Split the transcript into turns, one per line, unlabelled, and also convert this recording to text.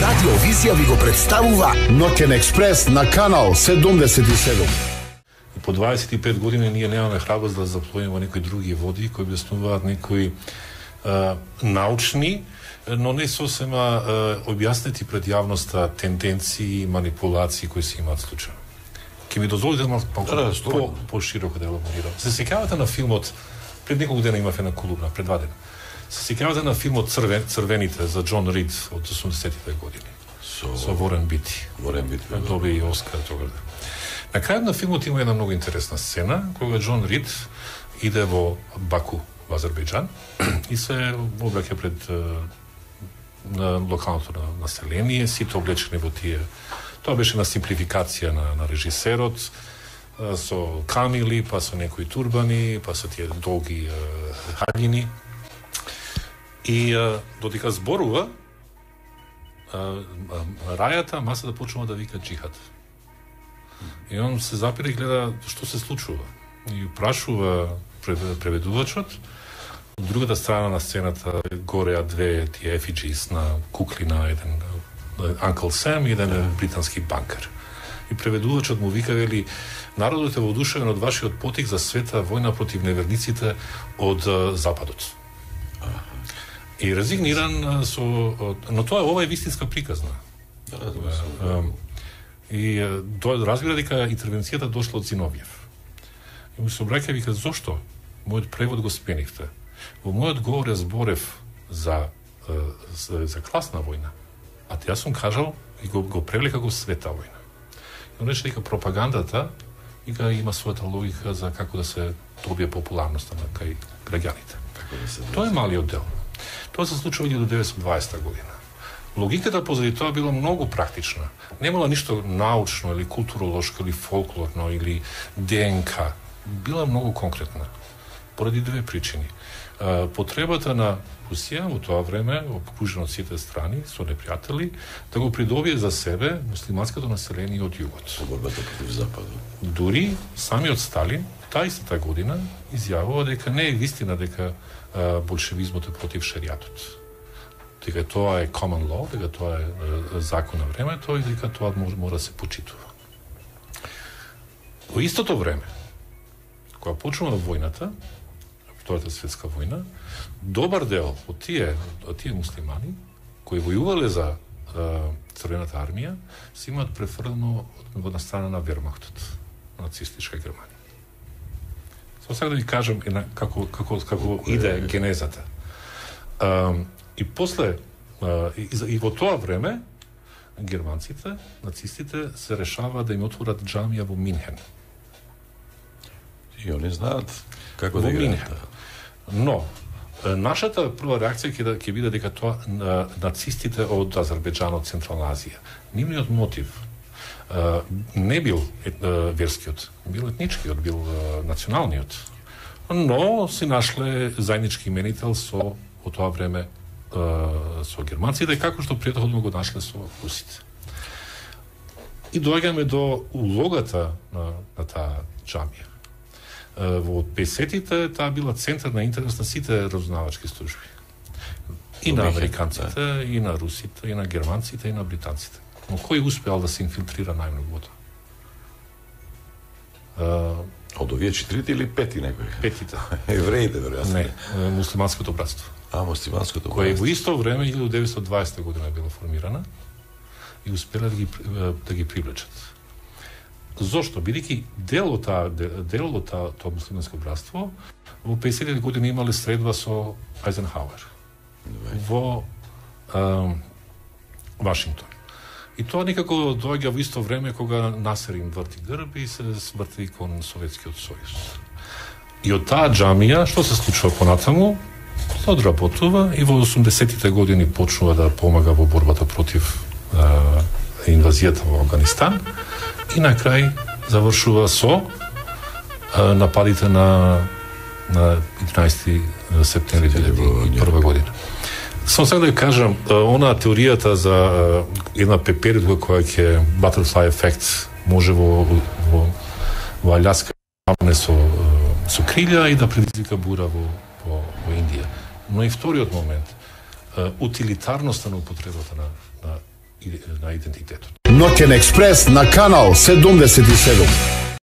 Радио Визија ви го представува Ноќен експрес на канал 77.
И по 25 години ние немаме храброст да заплуваме во некои други води кои објаснуваат некои научни, но не сосема објаснети пред јавноста тенденции и манипулации кои се имаат случаи. Ке ми дозволите малку по-широко да елаборирам. Се сеќавате на филмот, пред неколку дена имав една колумна, пред 2 дена. Се сеќавате на филмот Црвените за Џон Рид од 80-тите години. Со Ворен Бити. Доби и Оскар тогаш. На крајот на филмот има една многу интересна сцена, кога Џон Рид иде во Баку, во Азербејџан, и се обраќа пред на локалното население, сите облечени во тие. Тоа беше на симплификација на режисерот, со камили, па со некои турбани, па со тие долги хаѓини. И додека зборува, рајата, масата почнува да вика джихад. И он се запира и гледа што се случува. И прашува преведувачот, од другата страна на сцената гореа две тие ефиджис на кукли на еден Uncle Sam и еден британски банкер. И преведувачот му вика, вели, народот е воодушевен од вашиот потик за света војна против неверниците од Западот. И резигниран но ова е вистинска приказна. И разбира дека интервенцијата дошла од Зиновјев. И му се обраќа, вика, зошто? Мојот превод го сменивте. Во мојот говор ја зборев за класна војна. А јас сум кажал и го превели како света војна. Но рече дека пропагандата има својата логика за како да се добие популарноста на кај граѓаните. Тоа е малиот дел. Тоа се случува до 1920 година. Логиката позади тоа била многу практична. Немала ништо научно или културолошко или фолклорно или ДНК. Била многу конкретна. Поради две причини. Потребата на Русија во тоа време, окружена од сите страни, со непријатели, да го придобие за себе муслиманското население од југот.
По борбата против Западот.
Дури самиот Сталин, таа истата година, изјавува дека не е вистина дека болшевизмот е против шеријатот. Дека тоа е common law, дека тоа е закон на времето и дека тоа мора да се почитува. Во истото време, кога почнува војната, Втората светска војна, добар дел од тие муслимани кои војувале за Црвената армија се имаат префрлено од страна на Вермахтот, нацистичка Германија. Сега да ви кажам како иде генезата. И после и во тоа време германците, нацистите се решаваат да им отворат џамија во Минхен.
И они знаат како да играат.
Но нашата прва реакција ќе биде дека тоа нацистите од Азербејџан, од Централна Азија. Нивниот мотив не бил верскиот, бил етничкиот, бил националниот. Но си нашле заеднички именител во тоа време со германците, како што претходно го нашле со русите. И доаѓаме до улогата на таа џамија. Во 50-тите таа била центар на интерес на сите разузнавачки служби. И на американците, и на русите, и на германците, и на британците. Но кој успеал да се инфилтрира најмногу во тоа?
Од овие 4 или 5 некои?
5-тите.
Евреите, веројатно.
Не, муслиманското братство.
Муслиманското братство.
Кој во исто време, 1920 година била формирана и успела да ги привлечат. Зошто? Бидејќи дел од тоа муслиманско братство во 50-тите години имале средба со Ајзенхауер во Вашингтон. И тоа некако доаѓа во исто време кога Насер им врти грб и се сврти кон Советскиот сојуз. И од таа џамија, што се случува понатаму? Се одработува и во 80-тите години почнува да помага во борбата против инвазијата во Афганистан и на крај завршува со нападите на 11 септември 2001 година. Само сега да ви кажам, она теоријата за една пеперидка која ќе butterfly effect може во Аљаска со крилја и да предизвика бура во Индија. Но и вториот момент, утилитарноста на употребата на на идентитетот.
Ноќен експрес на канал 77.